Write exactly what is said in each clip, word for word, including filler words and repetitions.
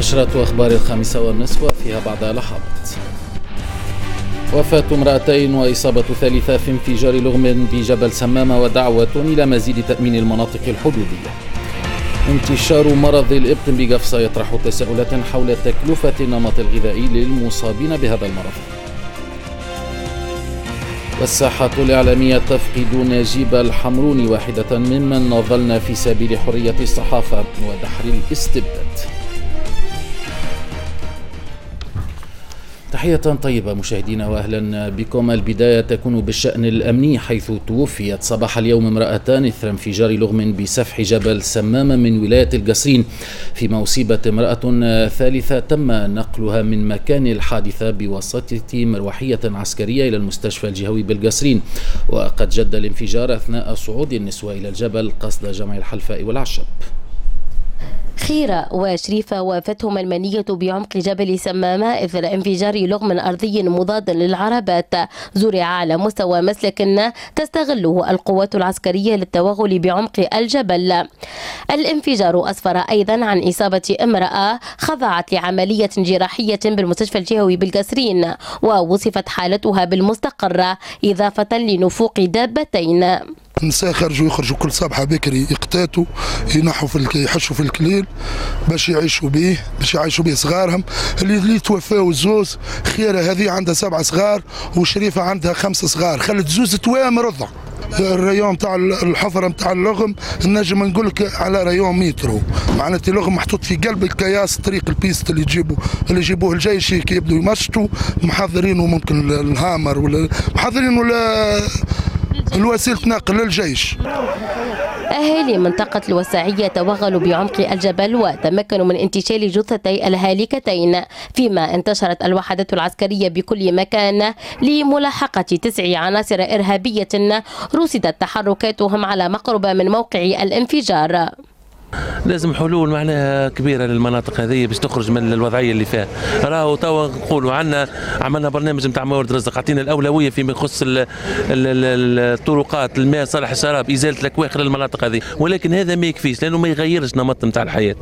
نشرة أخبار الخامسة والنصف وفيها بعد لحظات. وفاة امرأتين وإصابة ثالثة في انفجار لغم بجبل سمامة ودعوة إلى مزيد تأمين المناطق الحدودية. انتشار مرض الإبط بقفصة يطرح تساؤلات حول تكلفة النمط الغذائي للمصابين بهذا المرض. والساحة الإعلامية تفقد نجيب الحمروني واحدة ممن نظلنا في سبيل حرية الصحافة ودحر الاستبداد. تحية طيبة مشاهدينا وأهلا بكم. البداية تكون بالشأن الأمني، حيث توفيت صباح اليوم امرأتان إثر انفجار لغم بسفح جبل سمامة من ولاية القصرين، فيما أصيبت امرأة ثالثة تم نقلها من مكان الحادثة بواسطة مروحية عسكرية إلى المستشفى الجهوي بالقصرين. وقد جد الانفجار أثناء صعود النسوة إلى الجبل قصد جمع الحلفاء والعشب. خيرة وشريفة وافتهما المنية بعمق جبل سمامة إثر انفجار لغم أرضي مضاد للعربات زرع على مستوى مسلك تستغله القوات العسكرية للتوغل بعمق الجبل. الانفجار أسفر أيضا عن إصابة امرأة خضعت لعملية جراحية بالمستشفى الجهوي بالقصرين ووصفت حالتها بالمستقرة، إضافة لنفوق دابتين. النساء خرجوا يخرجوا كل صباح بكري يقتاتوا ينحوا في يحشوا في الكليل باش يعيشوا به باش يعيشوا به صغارهم اللي اللي توفاو الزوز. خيره هذه عندها سبعة صغار وشريفه عندها خمسة صغار، خلت زوز توام رضع. ال rayon تاع الحفرة نتاع اللغم نجم نقول لك على rayon مترو، معناتها اللغم محطوط في قلب الكياس طريق ال piste اللي يجيبوا اللي يجيبوه الجيش كي يبدوا يمشطوا محضرينه، ممكن الهامر ولا محضرينه ولا الوسيلة نقل للجيش. أهالي منطقة الوساعية توغلوا بعمق الجبل وتمكنوا من انتشال جثتي الهالكتين، فيما انتشرت الوحدات العسكرية بكل مكان لملاحقة تسع عناصر إرهابية رصدت تحركاتهم على مقربة من موقع الانفجار. لازم حلول معناها كبيرة للمناطق هذه باش تخرج من الوضعية اللي فيها. راهو توا نقولوا عندنا عملنا برنامج نتاع موارد رزق، عطينا الاولوية فيما يخص الطرقات، الماء، صالح الشراب، ازالة الاكواخ للمناطق هذه، ولكن هذا ما يكفيش لانه ما يغيرش نمط نتاع الحياة.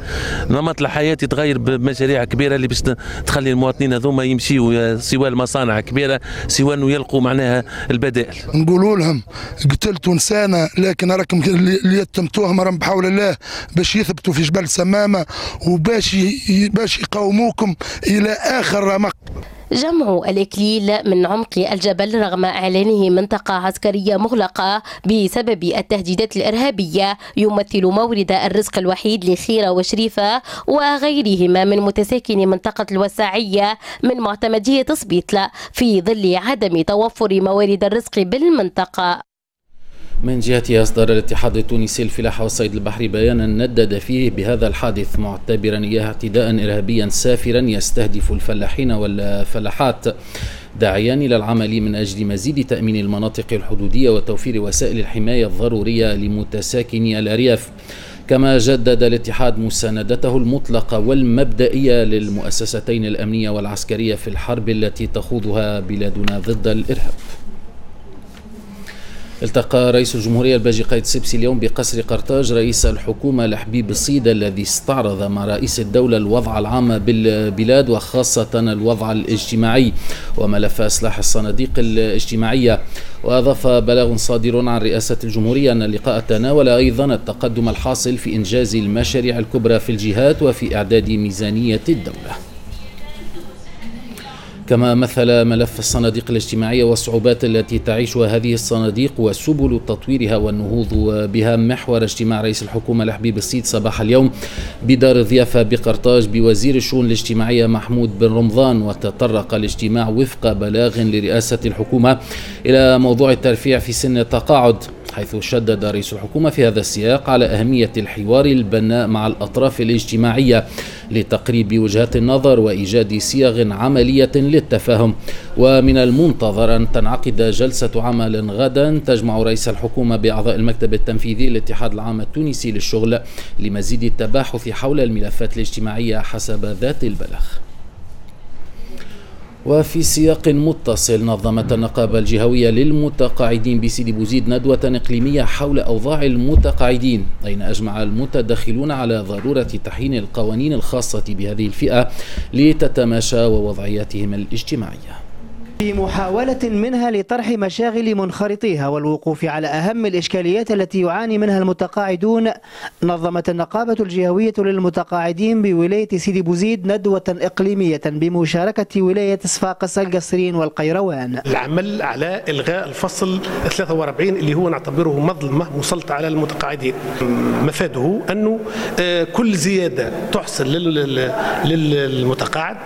نمط الحياة يتغير بمشاريع كبيرة اللي باش تخلي المواطنين هذوما يمشيوا سواء المصانع كبيرة سواء انه يلقوا معناها البدائل. نقولوا لهم قتلتوا انسانه لكن راكم اللي يتمتوهم راهم بحول الله باش يثبتوا في جبل سمامة وباش باش يقاوموكم إلى آخر رمق. جمع الإكليل من عمق الجبل رغم إعلانه منطقة عسكرية مغلقة بسبب التهديدات الإرهابية يمثل مورد الرزق الوحيد لخيرة وشريفة وغيرهما من متساكني منطقة الوساعية من معتمدية سبيطلة في ظل عدم توفر موارد الرزق بالمنطقة. من جهته أصدر الاتحاد التونسي للفلاحة والصيد البحري بيانا ندد فيه بهذا الحادث، معتبرا إياه اعتداء إرهابيا سافرا يستهدف الفلاحين والفلاحات، داعيا إلى العمل من أجل مزيد تأمين المناطق الحدودية وتوفير وسائل الحماية الضرورية لمتساكني الأرياف. كما جدد الاتحاد مساندته المطلقة والمبدئية للمؤسستين الأمنية والعسكرية في الحرب التي تخوضها بلادنا ضد الإرهاب. التقى رئيس الجمهورية الباجي قايد السبسي اليوم بقصر قرطاج رئيس الحكومة لحبيب الصيد الذي استعرض مع رئيس الدولة الوضع العام بالبلاد وخاصة الوضع الاجتماعي وملف إصلاح الصناديق الاجتماعية. وأضاف بلاغ صادر عن رئاسة الجمهورية أن اللقاء تناول أيضا التقدم الحاصل في إنجاز المشاريع الكبرى في الجهات وفي إعداد ميزانية الدولة. كما مثل ملف الصناديق الاجتماعية والصعوبات التي تعيشها هذه الصناديق وسبل تطويرها والنهوض بها محور اجتماع رئيس الحكومة لحبيب الصيد صباح اليوم بدار الضيافة بقرطاج بوزير الشؤون الاجتماعية محمود بن رمضان. وتطرق الاجتماع وفق بلاغ لرئاسة الحكومة إلى موضوع الترفيع في سن التقاعد، حيث شدد رئيس الحكومة في هذا السياق على أهمية الحوار البناء مع الأطراف الاجتماعية لتقريب وجهات النظر وإيجاد صيغ عملية للتفاهم. ومن المنتظر أن تنعقد جلسة عمل غدا تجمع رئيس الحكومة بأعضاء المكتب التنفيذي للاتحاد العام التونسي للشغل لمزيد التباحث حول الملفات الاجتماعية حسب ذات البلاغ. وفي سياق متصل، نظمت النقابة الجهوية للمتقاعدين بسيدي بوزيد ندوة إقليمية حول أوضاع المتقاعدين، أين أجمع المتدخلون على ضرورة تحيين القوانين الخاصة بهذه الفئة لتتماشى ووضعياتهم الاجتماعية. في محاولة منها لطرح مشاغل منخرطيها والوقوف على أهم الإشكاليات التي يعاني منها المتقاعدون، نظمت النقابة الجهوية للمتقاعدين بولاية سيدي بوزيد ندوة إقليمية بمشاركة ولاية صفاقس القصرين والقيروان. العمل على إلغاء الفصل ثلاثة وأربعين اللي هو نعتبره مظلمة مسلطة على المتقاعدين، مفاده أنه كل زيادة تحصل للمتقاعد،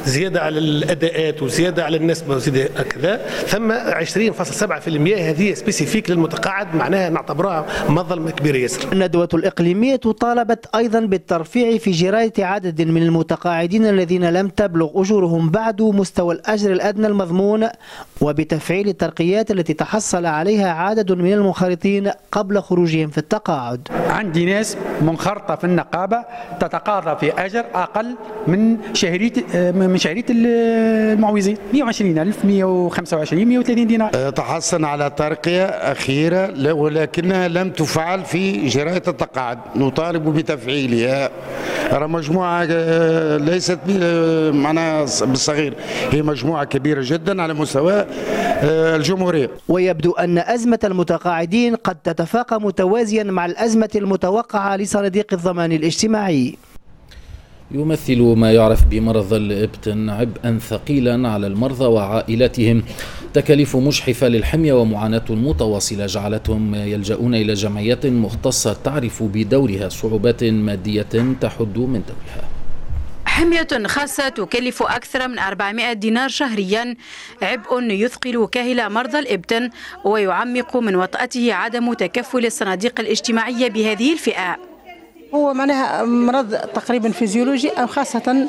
زيادة على الأداءات وزيادة على النسبة وزيادة كذا، ثم عشرين فاصل سبعة بالمئة هذه spécifique للمتقاعد، معناها نعتبرها مظلمة كبيرة ياسر. الندوة الإقليمية طالبت أيضا بالترفيع في جراية عدد من المتقاعدين الذين لم تبلغ أجورهم بعد مستوى الأجر الأدنى المضمون، وبتفعيل الترقيات التي تحصل عليها عدد من المنخرطين قبل خروجهم في التقاعد. عندي ناس منخرطة في النقابة تتقاضى في أجر أقل من شهرية من شهرية المعوزين، مئة وعشرين ألف، مئة وخمسة وعشرين، مئة وثلاثين دينار. تحصل على ترقية أخيرة ولكنها لم تفعل في جراية التقاعد، نطالب بتفعيلها. راه مجموعة ليست معناها بالصغير، هي مجموعة كبيرة جدا على مستوى الجمهورية. ويبدو أن أزمة المتقاعدين قد تتفاقم متوازيا مع الأزمة المتوقعة لصناديق الضمان الاجتماعي. يمثل ما يعرف بمرض الإبتن عبئا ثقيلا على المرضى وعائلاتهم، تكاليف مجحفة للحمية ومعاناة متواصلة جعلتهم يلجؤون إلى جمعيات مختصة تعرف بدورها صعوبات مادية تحد من دورها. حمية خاصة تكلف أكثر من أربعمائة دينار شهريا، عبء يثقل كاهل مرضى الإبتن ويعمق من وطأته عدم تكفل الصناديق الاجتماعية بهذه الفئة. هو معناها مرض تقريبا فيزيولوجي، أو خاصة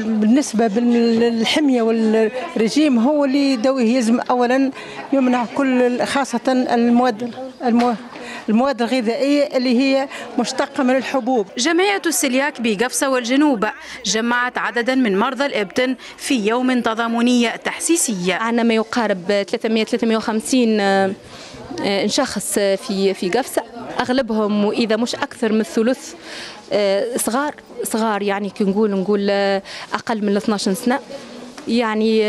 بالنسبة للحمية والرجيم هو اللي يداويه. يلزم أولا يمنع كل خاصة المواد المواد الغذائية اللي هي مشتقة من الحبوب. جمعية السلياك بقفصة والجنوب جمعت عددا من مرضى الإبتن في يوم تضامني تحسيسي. عندنا ما يقارب ثلاثمائة ثلاثمائة وخمسين شخص في في قفصة، أغلبهم وإذا مش أكثر من الثلث صغار صغار، يعني كي نقول نقول أقل من اثناش سنة. يعني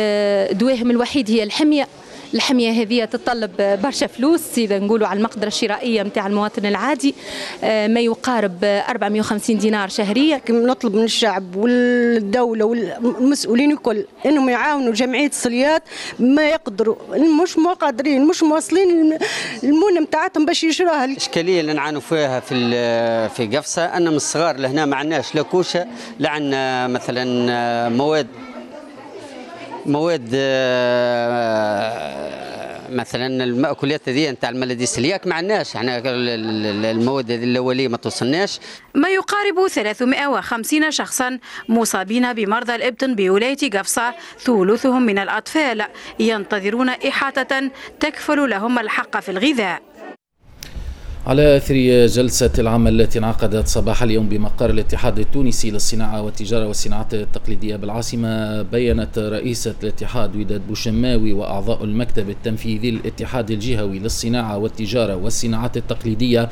دواهم الوحيد هي الحمية. الحمية هذه تتطلب برشا فلوس، إذا نقولوا على المقدرة الشرائية نتاع المواطن العادي ما يقارب أربعمائة وخمسين دينار شهريا. نطلب من الشعب والدولة والمسؤولين الكل إنهم يعاونوا جمعية الصليات ما يقدروا، مش قادرين مش مواصلين المونة نتاعتهم باش يشروها. الإشكالية اللي نعانوا فيها في في قفصة أن من الصغار لهنا ما عندناش لا كوشة، لا عندنا مثلا مواد مواد مثلا المأكولات هذه نتاع الملدي السلياك ما عندناش، احنا المواد هذه الاولية ما توصلناش. ما يقارب ثلاثمائة وخمسين شخصا مصابين بمرضى الإبطن بولاية قفصه، ثلثهم من الاطفال، ينتظرون احاطة تكفل لهم الحق في الغذاء. على أثر جلسة العمل التي انعقدت صباح اليوم بمقر الاتحاد التونسي للصناعة والتجارة والصناعات التقليدية بالعاصمة، بيّنت رئيسة الاتحاد وداد بوشماوي وأعضاء المكتب التنفيذي للاتحاد الجهوي للصناعة والتجارة والصناعات التقليدية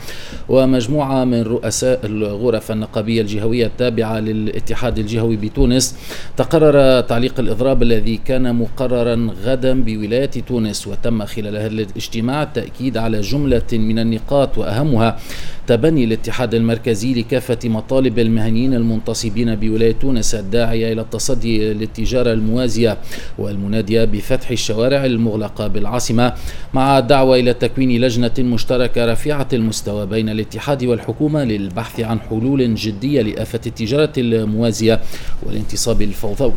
ومجموعة من رؤساء الغرف النقابية الجهوية التابعة للاتحاد الجهوي بتونس، تقرر تعليق الإضراب الذي كان مقررا غدا بولاية تونس. وتم خلال هذا الاجتماع التأكيد على جملة من النقاط، وأهمها تبني الاتحاد المركزي لكافة مطالب المهنيين المنتصبين بولاية تونس الداعية إلى التصدي للتجارة الموازية والمنادية بفتح الشوارع المغلقة بالعاصمة، مع الدعوة إلى تكوين لجنة مشتركة رفيعة المستوى بين الاتحاد والحكومة للبحث عن حلول جدية لآفة التجارة الموازية والانتصاب الفوضوي.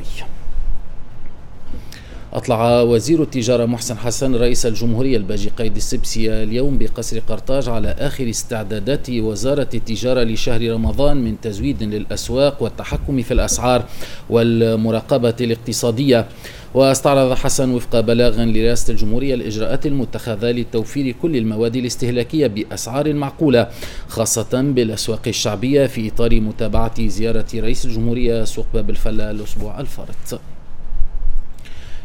أطلع وزير التجارة محسن حسن رئيس الجمهورية الباجي قايد السبسي اليوم بقصر قرطاج على آخر استعدادات وزارة التجارة لشهر رمضان من تزويد للأسواق والتحكم في الأسعار والمراقبة الاقتصادية. واستعرض حسن وفق بلاغ لرئاسة الجمهورية الإجراءات المتخذة لتوفير كل المواد الاستهلاكية بأسعار معقولة، خاصة بالأسواق الشعبية، في إطار متابعة زيارة رئيس الجمهورية سوق باب الفلا الأسبوع الفارط.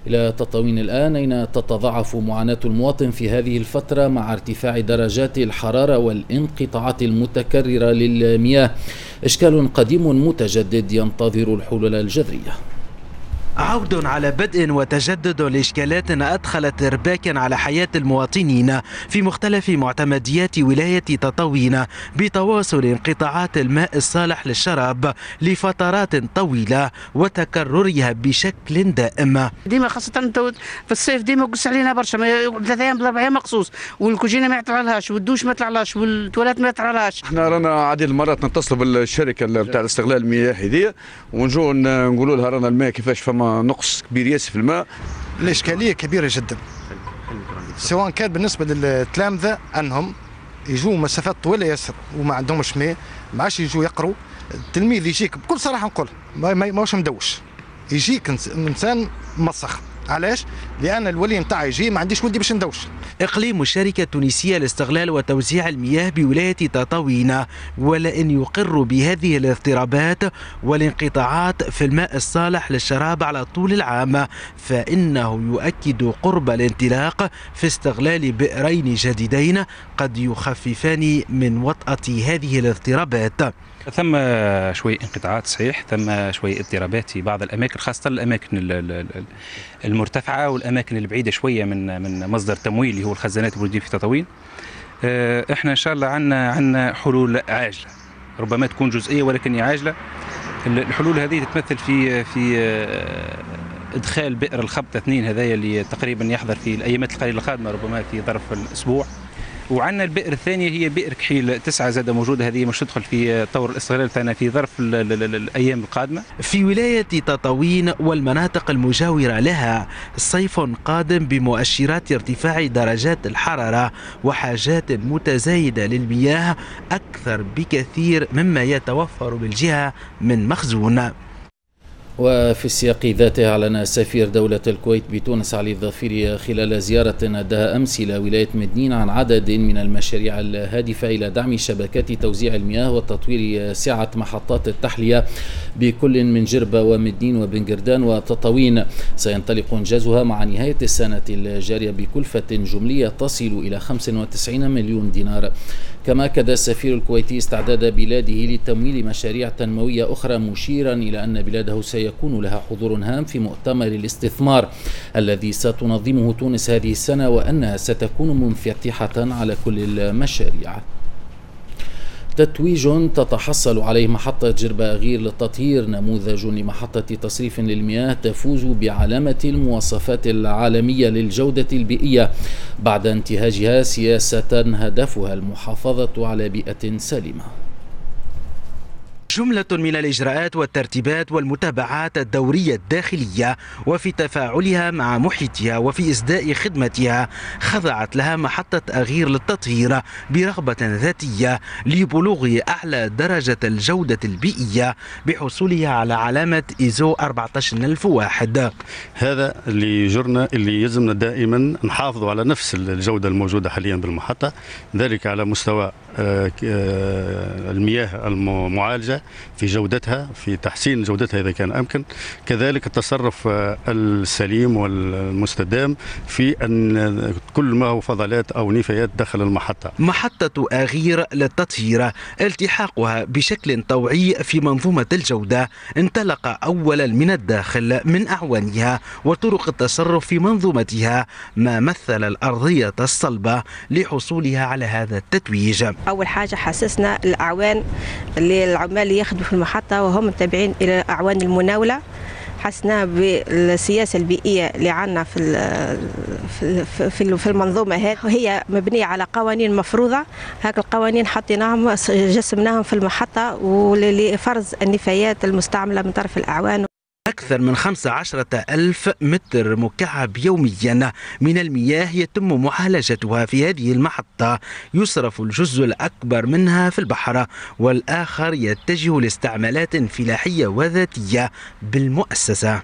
إلى تطاوين الآن، أين تتضاعف معاناة المواطن في هذه الفترة مع ارتفاع درجات الحرارة والانقطاعات المتكررة للمياه. إشكال قديم متجدد ينتظر الحلول الجذرية. عود على بدء وتجدد لإشكالات أدخلت إرباكا على حياة المواطنين في مختلف معتمديات ولاية تطاوين بتواصل انقطاعات الماء الصالح للشراب لفترات طويلة وتكررها بشكل دائم. ديما خاصة في الصيف ديما قص علينا برشا، ثلاث أيام بالأربع أيام مقصوص، والكوجينة ما يطلعلهاش، والدوش ما يطلعلهاش، والتواليت ما يطلعلهاش. احنا رانا عديد المرات نتصلوا بالشركة نتاع استغلال المياه هذه ونجوا نقولوا لها رانا الماء كيفاش فما نقص كبير ياسر في الماء. الإشكالية كبيرة جدا، سواء كان بالنسبة للتلامذة أنهم يجوا مسافات طويلة ياسر وما عندهمش ماء، ما عادش يجوا يقروا. التلميذ يجيك بكل صراحة نقول ما ماهوش مدوش، يجيك إنسان مسخ. علاش؟ لأن الولي نتاعي يجي ما عنديش ولدي باش ندوش. إقليم الشركة التونسية لاستغلال وتوزيع المياه بولاية تطاوين ولئن يقر بهذه الاضطرابات والانقطاعات في الماء الصالح للشراب على طول العام، فإنه يؤكد قرب الانطلاق في استغلال بئرين جديدين قد يخففان من وطأة هذه الاضطرابات. ثم شوي انقطاعات صحيح، ثم شوي اضطرابات في بعض الأماكن، خاصة الأماكن المرتفعة والأماكن البعيدة شوية من من مصدر تمويل اللي هو الخزانات الموجودة في تطاوين. احنا إن شاء الله عندنا عندنا حلول عاجلة، ربما تكون جزئية ولكن عاجلة. الحلول هذه تتمثل في في إدخال بئر الخبطة اثنين هذايا اللي تقريبا يحضر في الأيامات القليلة القادمة، ربما في ظرف الأسبوع. وعندنا البئر الثانية هي بئر كحيل تسعة زادة موجودة، هذه مش تدخل في طور الاستغلال تاعنا في ظرف الأيام القادمة. في ولاية تطاوين والمناطق المجاورة لها صيف قادم بمؤشرات ارتفاع درجات الحرارة وحاجات متزايدة للمياه أكثر بكثير مما يتوفر بالجهة من مخزون. وفي السياق ذاته أعلن سفير دولة الكويت بتونس علي الظفيري خلال زيارة أداها أمس إلى ولاية مدنين عن عدد من المشاريع الهادفة إلى دعم شبكات توزيع المياه وتطوير سعة محطات التحلية بكل من جربة ومدنين وبنجردان وتطاوين. سينطلق إنجازها مع نهاية السنة الجارية بكلفة جملية تصل إلى خمسة وتسعين مليون دينار. كما أكد السفير الكويتي استعداد بلاده لتمويل مشاريع تنموية أخرى، مشيرا إلى أن بلاده سيكون لها حضور هام في مؤتمر الاستثمار الذي ستنظمه تونس هذه السنة، وأنها ستكون منفتحة على كل المشاريع. تتويج تتحصل عليه محطة جربة أغير للتطهير، نموذج لمحطة تصريف للمياه تفوز بعلامة المواصفات العالمية للجودة البيئية بعد انتهاجها سياسة هدفها المحافظة على بيئة سليمة. جملة من الإجراءات والترتيبات والمتابعات الدورية الداخلية وفي تفاعلها مع محيطها وفي إسداء خدمتها خضعت لها محطة أغير للتطهير برغبة ذاتية لبلوغ أعلى درجة الجودة البيئية بحصولها على علامة إيزو أربعة عشر ألف وواحد. هذا اللي يجرنا اللي يلزمنا دائما نحافظ على نفس الجودة الموجودة حاليا بالمحطة، ذلك على مستوى المياه المعالجة في جودتها، في تحسين جودتها إذا كان أمكن، كذلك التصرف السليم والمستدام في أن كل ما هو فضلات أو نفايات داخل المحطة. محطة أغير للتطهير التحاقها بشكل طوعي في منظومة الجودة انطلق أولا من الداخل من أعوانها وطرق التصرف في منظومتها، ما مثل الأرضية الصلبة لحصولها على هذا التتويج. أول حاجة حسسنا الأعوان اللي العمال اللي يخدموا في المحطة وهم تابعين إلى أعوان المناولة، حسنا بالسياسة البيئية اللي عندنا في في في المنظومة هذه، وهي مبنية على قوانين مفروضة. هاك القوانين حطيناهم جسمناهم في المحطة ولفرز النفايات المستعملة من طرف الأعوان. أكثر من خمسة عشر ألف متر مكعب يوميا من المياه يتم معالجتها في هذه المحطة، يصرف الجزء الأكبر منها في البحر والآخر يتجه لاستعمالات فلاحية وذاتية بالمؤسسة.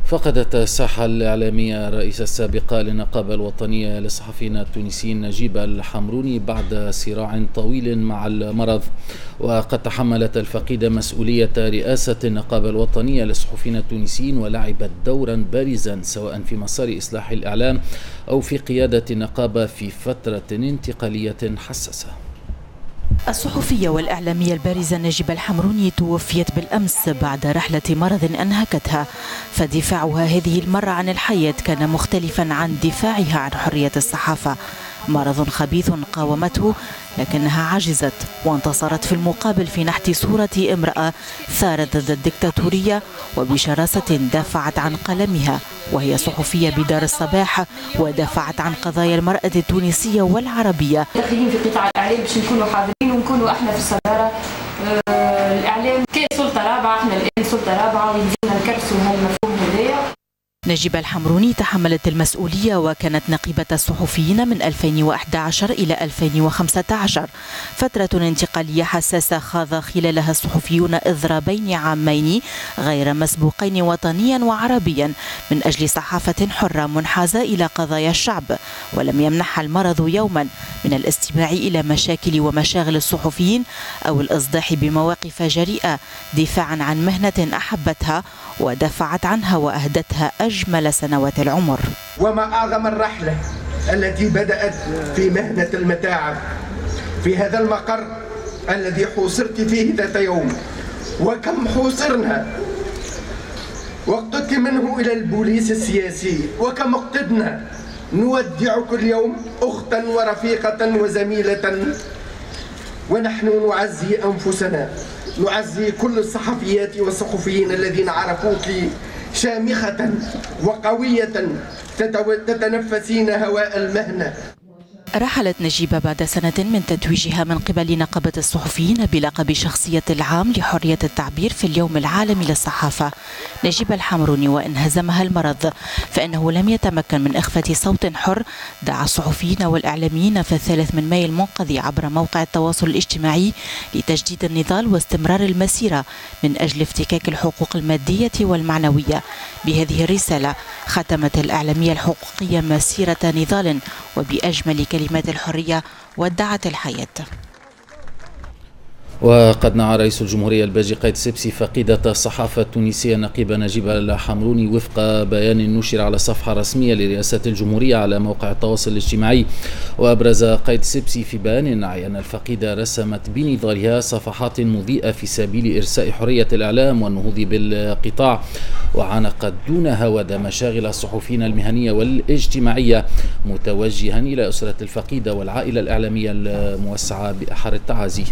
فقدت الساحة الإعلامية الرئيسة السابقة للنقابة الوطنية للصحفيين التونسيين نجيبة الحمروني بعد صراع طويل مع المرض. وقد تحملت الفقيدة مسؤولية رئاسة النقابة الوطنية للصحفيين التونسيين ولعبت دورا بارزا سواء في مسار إصلاح الإعلام أو في قيادة النقابة في فترة انتقالية حساسة. الصحفية والإعلامية البارزة نجيبة الحمروني توفيت بالأمس بعد رحلة مرض أنهكتها، فدفاعها هذه المرة عن الحياة كان مختلفا عن دفاعها عن حرية الصحافة. مرض خبيث قاومته لكنها عجزت وانتصرت في المقابل في نحت صورة امرأة ثارت ضد الدكتاتورية وبشراسة دافعت عن قلمها، وهي صحفية بدار الصباح ودافعت عن قضايا المرأة التونسية والعربية. داخلين في قطاع الإعلام باش نكونوا حاضرين ونكونوا احنا في الصدارة. آه الإعلام كسلطة رابعة، احنا الآن سلطة رابعة ويلزمنا نكرسوا هالمفهوم هذايا. نجيبة الحمروني تحملت المسؤولية وكانت نقيبة الصحفيين من ألفين وأحد عشر إلى ألفين وخمسة عشر، فترة انتقالية حساسة خاض خلالها الصحفيون إضرابين عامين غير مسبوقين وطنيا وعربيا من أجل صحافة حرة منحازة إلى قضايا الشعب، ولم يمنحها المرض يوما من الاستماع إلى مشاكل ومشاغل الصحفيين أو الإصداح بمواقف جريئة دفاعا عن مهنة أحبتها ودافعت عنها وأهدتها أجمل سنوات العمر. وما أعظم الرحلة التي بدأت في مهنة المتاعب في هذا المقر الذي حوصرت فيه ذات يوم، وكم حوصرنا واقتدت منه إلى البوليس السياسي، وكم اقتدنا نودع كل يوم أختا ورفيقة وزميلة، ونحن نعزي أنفسنا، نعزي كل الصحفيات والصحفيين الذين عرفوك شامخة وقوية تتنفسين هواء المهنة. رحلت نجيبة بعد سنة من تتويجها من قبل نقابة الصحفيين بلقب شخصية العام لحرية التعبير في اليوم العالمي للصحافة. نجيبة الحمروني وإن هزمها المرض فإنه لم يتمكن من إخفاء صوت حر دعا الصحفيين والإعلاميين في الثالث من مايو المنقضي عبر موقع التواصل الاجتماعي لتجديد النضال واستمرار المسيرة من أجل افتكاك الحقوق المادية والمعنوية. بهذه الرسالة ختمت الإعلامية الحقوقية مسيرة نضال وبأجمل كلمات الحرية ودعت الحياة. وقد نعى رئيس الجمهورية الباجي قايد السبسي فقيدة الصحافة التونسية النقيبة نجيبة الحمروني وفق بيان نشر على صفحة رسمية لرئاسة الجمهورية على موقع التواصل الاجتماعي. وأبرز قايد السبسي في بيان نعي أن الفقيدة رسمت بنضالها صفحات مضيئة في سبيل إرساء حرية الإعلام والنهوض بالقطاع، وعانقت دون هوادة مشاغل الصحفيين المهنية والاجتماعية، متوجها إلى أسرة الفقيدة والعائلة الإعلامية الموسعة بأحر التعازي.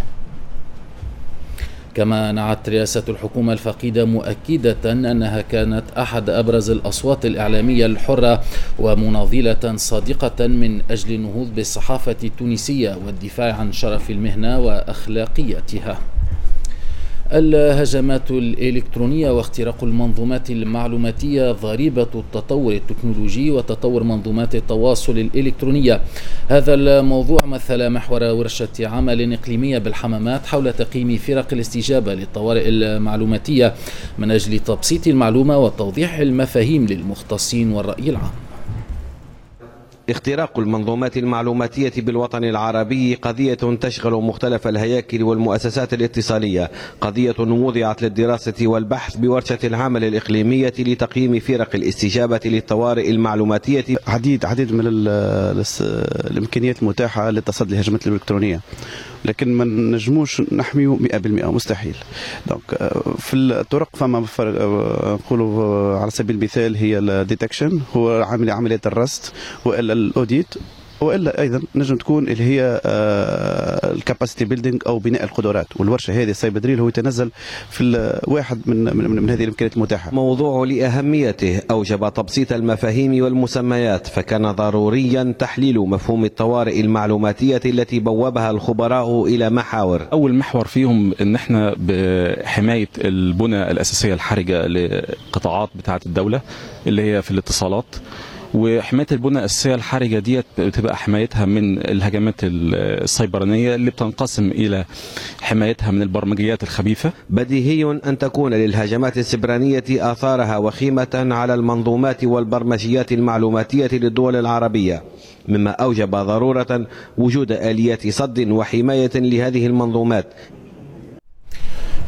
كما نعت رئاسة الحكومة الفقيدة مؤكدة أنها كانت أحد أبرز الأصوات الإعلامية الحرة ومناضلة صادقة من أجل النهوض بالصحافة التونسية والدفاع عن شرف المهنة وأخلاقيتها. الهجمات الإلكترونية واختراق المنظومات المعلوماتية ضريبة التطور التكنولوجي وتطور منظومات التواصل الإلكترونية. هذا الموضوع مثل محور ورشة عمل إقليمية بالحمامات حول تقييم فرق الاستجابة للطوارئ المعلوماتية من أجل تبسيط المعلومة وتوضيح المفاهيم للمختصين والرأي العام. اختراق المنظومات المعلوماتية بالوطن العربي قضية تشغل مختلف الهياكل والمؤسسات الاتصالية، قضية وضعت للدراسة والبحث بورشة العمل الإقليمية لتقييم فرق الاستجابة للطوارئ المعلوماتية. عديد عديد من الإمكانيات المتاحة للتصدي للهجمات الإلكترونية، لكن ما نجموش نحميو مئة بالمئة، مستحيل. donc في الطرق فما نقولوا على سبيل المثال هي ال detection، هو عمل عملية الرصد والا ال audit، والا ايضا نجم تكون اللي هي ال capacity building او بناء القدرات. والورشه هذه ال cyber drill هو يتنزل في واحد من من, من هذه الامكانيات المتاحة. موضوع لاهميته اوجب تبسيط المفاهيم والمسميات، فكان ضروريا تحليل مفهوم الطوارئ المعلوماتيه التي بوبها الخبراء الى محاور. اول محور فيهم ان احنا بحمايه البنى الاساسية الحرجة لقطاعات بتاعه الدولة اللي هي في الاتصالات، وحماية البنى الاساسية الحرجة ديت بتبقى حمايتها من الهجمات السيبرانيه اللي بتنقسم الى حمايتها من البرمجيات الخبيثة. بديهي أن تكون للهجمات السبرانية آثارها وخيمة على المنظومات والبرمجيات المعلوماتية للدول العربية، مما أوجب ضرورة وجود آليات صد وحماية لهذه المنظومات.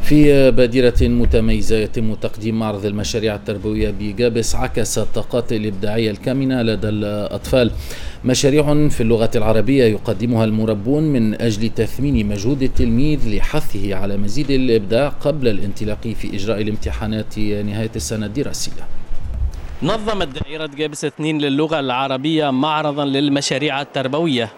في بادرة متميزة يتم تقديم معرض المشاريع التربوية بجابس عكس الطاقات الإبداعية الكامنة لدى الأطفال. مشاريع في اللغة العربية يقدمها المربون من أجل تثمين مجهود التلميذ لحثه على مزيد الإبداع قبل الانطلاق في إجراء الامتحانات نهاية السنة الدراسية. نظمت دائرة جابس اثنين للغة العربية معرضا للمشاريع التربوية.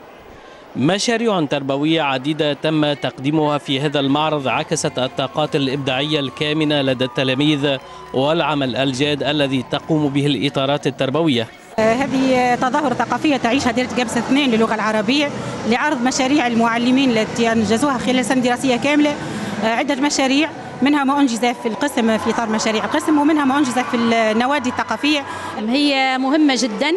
مشاريع تربوية عديدة تم تقديمها في هذا المعرض عكست الطاقات الإبداعية الكامنة لدى التلاميذ والعمل الجاد الذي تقوم به الإطارات التربوية. هذه تظاهرة ثقافية تعيشها دائرة جابس اثنين للغة العربية لعرض مشاريع المعلمين التي أنجزوها خلال سنة دراسية كاملة. عدة مشاريع، منها ما أنجز في القسم في إطار مشاريع القسم، ومنها ما أنجز في النوادي الثقافية. هي مهمة جدا.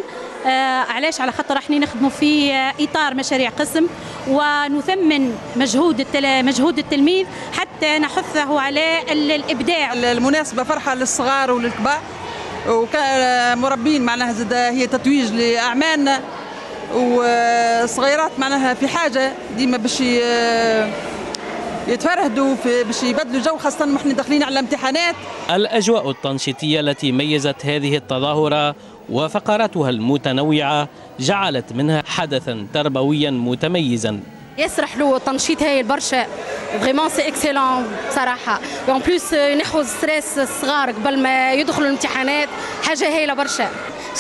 علاش؟ على خاطر احنا نخدموا في اطار مشاريع قسم ونثمن مجهود مجهود التلميذ حتى نحثه على الابداع. المناسبة فرحه للصغار وللكبار وكمربين، معناها زاد هي تتويج لاعمالنا، وصغيرات معناها في حاجة ديما باش يتفرهدوا باش يبدلوا جو، خاصة نحن داخلين على امتحانات. الاجواء التنشيطيه التي ميزت هذه التظاهرة وفقراتها المتنوعة جعلت منها حدثا تربويا متميزا. ياسر حلو التنشيط هايل برشا، vraiment c'est excellent بصراحة. en plus ينحوا stress الصغار قبل ما يدخلوا الامتحانات، حاجة هايلة برشا.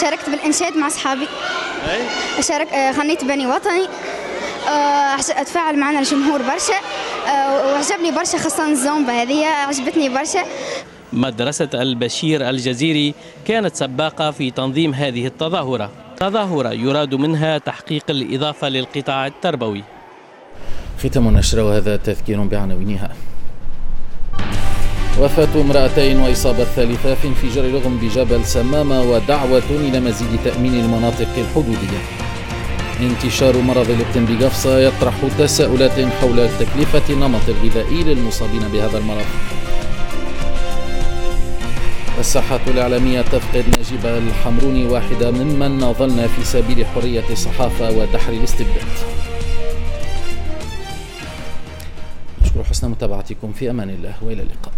شاركت بالانشاد مع اصحابي، شارك غنيت بني وطني، اتفاعل معنا الجمهور برشا وعجبني برشا، خاصة الزومبا هذه عجبتني برشا. مدرسة البشير الجزيري كانت سباقة في تنظيم هذه التظاهرة، تظاهرة يراد منها تحقيق الإضافة للقطاع التربوي. ختام النشرة وهذا تذكير بعناوينها. وفاة امرأتين وإصابة ثالثة في انفجار لغم بجبل سمامة ودعوة إلى مزيد تأمين المناطق الحدودية. انتشار مرض الإبتن بقفصة يطرح تساؤلات حول تكلفة النمط الغذائي للمصابين بهذا المرض. الساحة الإعلامية تفقد نجيب الحمروني واحدة ممن ناضلنا في سبيل حرية الصحافة ودحر الاستبداد. نشكر حسن متابعتكم، في أمان الله وإلى اللقاء.